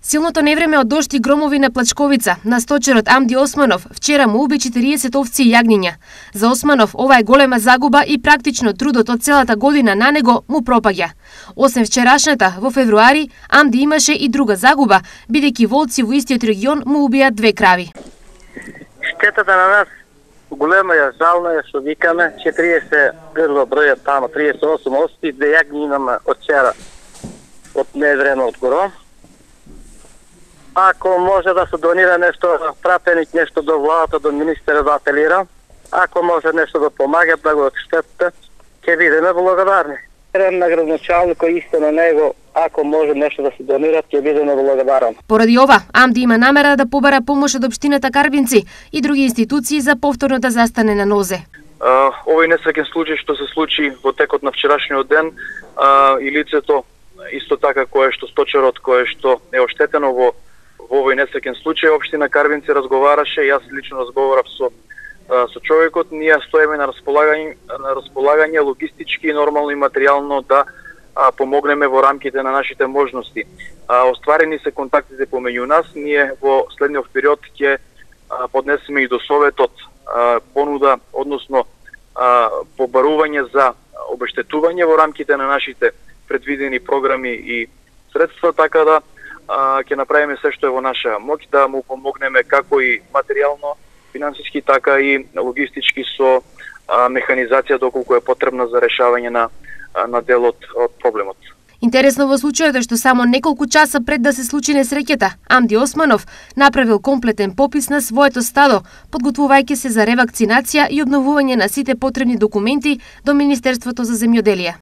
Силното невреме од дожд и громови на Плачковица на сточерот Амди Османов вчера му уби 40 овци и јагниња. За Османов ова е голема загуба и практично трудот од целата година на него му пропаѓа. Освен вчерашната, во февруари, Амди имаше и друга загуба, бидејќи волци во истиот регион му убија 2 крави. Штетата на нас голема е, жално е што викаме, 40 грла бројат тамо, 38 овци, 2 јагни имаме од вчера, од невреме од горо. Ако може да се донира нешто, пратеник нешто до владата, до министерот да апелира, ако може нешто да помага, да го штетите, ќе бидеме благодарни. На градоначалникот исто на него, ако може нешто да се донира, ќе бидеме благодарни. Поради ова, Амди има намера да побара помош од општината Карбинци и други институции за повторно да застане на нозе. Овој несреќен случај што се случи во текот на вчерашниот ден и лицето исто така кое што сточерот кое што е оштетено во овој несреќен случај, општина Карбинци разговараше, јас лично разговарав со човекот, ние стоиме на располагање логистички, нормално и материјално да помогнеме во рамките на нашите можности. Остварени се контактите помеѓу нас, ние во следниот период ќе поднесеме и до Советот понуда, односно побарување за обештетување во рамките на нашите предвидени програми и средства, така да ќе направиме се што е во наша моќ да му помогнеме како и материјално, финансиски, така и логистички со механизација доколку е потребна за решавање на делот од проблемот. Интересно во случајот е што само неколку часа пред да се случи несреќата, Амди Османов направил комплетен попис на своето стадо, подготвувајќи се за ревакцинација и обновување на сите потребни документи до Министерството за земјоделие.